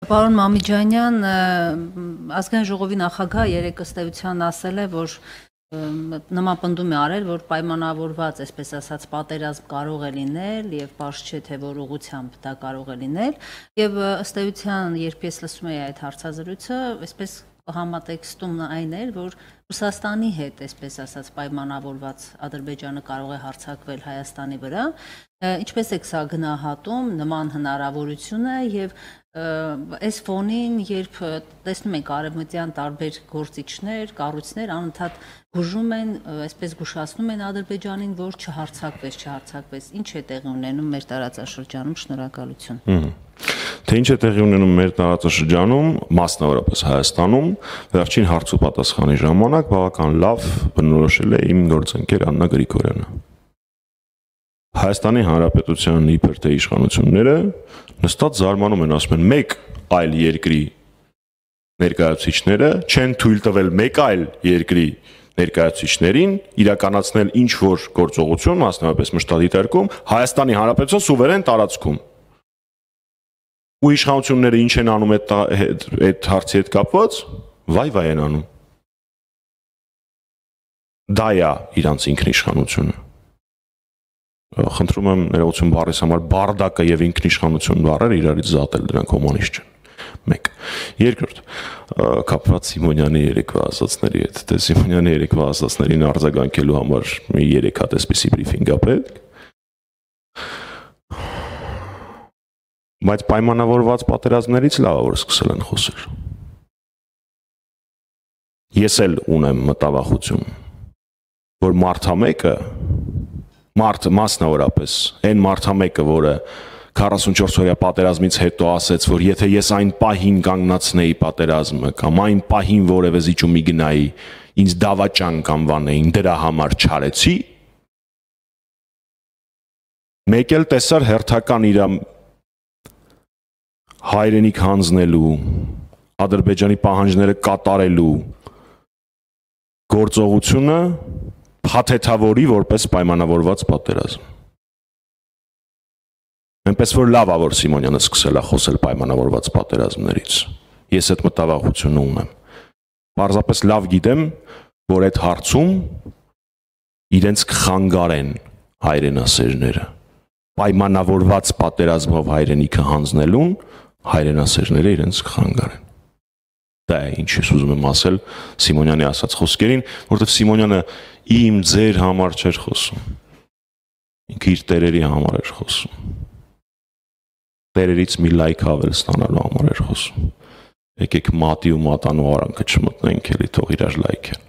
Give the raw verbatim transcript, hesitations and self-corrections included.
Պարոն Մամիջանյան, ազգային ժողովի նախագահ երեկ ըստ էության ասել է, որ նման պնդում է արել, որ պայմանավորված, այսպես ասած, պատերազմ կարող է լինել եւ պարզ չէ թե որ ուղղությամբ դա կարող է լինել եւ ըստ էության, երբ ես լսում եի այդ հարցազրույցը, այսպես համատեքստում այն էր, որ Ռուսաստանի հետ, այսպես ասած, պայմանավորված Ադրբեջանը կարող է հարձակվել Հայաստանի վրա, ինչպես եք սա գնահատում նման հնարավորությունը եւ այս ֆոնին, երբ տեսնում ենք արևմտյան տարբեր գործիչներ, կառույցներ անընդհատ գուժում են, այսպես գուշացնում են Ադրբեջանին, որ չհարձակվես, չհարձակվես, ինչ է տեղի ունենում մեր տարածաշրջանում, շնորհակալություն։ Թե ինչ է տեղի ունենում մեր տարածաշրջանում, մասնավորապես Հայաստանում, վերջին հարցու պատասխանի ժամանակ բավական լավ բնորոշել է իմ գործընկեր Աննա Գրիգորյանը։ Հայաստանի Հանրապետության իբր թե իշխանությունները նստած զարմանում են, ասում են մեկ այլ երկրի ներկայացուցիչները չեն թույլ տվել մեկ այլ երկրի ներկայացուցիչներին իրականացնել ինչ որ գործողություն, մասնավորապես մշտադիտարկում Հայաստանի Հանրապետության սուվերեն տարածքում։ Ու իշխանությունները ինչ են անում այդ այդ հարցի հետ կապված, վայ-վայ են անում։ Դա է իրանց ինքնիշխանությունը։ Խնդրում եմ ներողություն բառիս համար բարդակը եւ ինքնիշխանություն բառերը իրարից զատել, դրանք հոմանիշ չեն։ Մեկ։ Երկրորդ, կապված Սիմոնյանի երեկվա ասածների հետ, թե Սիմոնյանի երեկվա ասածներին արձագանքելու համար մի երեք հատ էսպիսի բրիֆինգ ա պետք։ Բայց պայմանավորված պատերազմներից լավ է որ սկսել են խոսել։ Ես էլ ունեմ մտավախություն, որ մարդամեկը մարդ մասնավորապես այն մարդամեկը, որը քառասունչորս օրյա պատերազմից հետո ասեց, որ եթե ես այն պահին կանգնացնեի պատերազմը կամ այն պահին որևէ զիջումի գնայի, ինձ դավաճան կանվանեին, դրա համար չարեցի, մեկ էլ տեսար հերթական իր հայրենիք հանձնելու, Ադրբեջանի պահանջները կատարելու գործողությունը փաթեթավորի որպես պայմանավորված պատերազմ։ Այնպես որ լավ է որ Սիմոնյանը սկսել է խոսել պայմանավորված պատերազմներից։ Ես այդ մտավախությունը ունեմ։ Պարզապես լավ գիտեմ, որ այդ հարցում իրենց կխանգարեն հայրենասերները։ Պայմանավորված պատերազմով հայրենիքը հանձնելուն հայրենասերները իրենց կխանգարեն։ Դա է ինչ ես ուզում եմ ասել Սիմոնյանի ասած խոսքերին, որովհետև Սիմոնյանը իմ ձեր համար չէր խոսում։ Ինքը իր տերերի համար էր խոսում։ Տերերից մի լայք ավել ստանալու համար էր խոսում։ Եկեք մատի ու մատանու արանքը չմտնենք էլի, թող իրար լայքեն։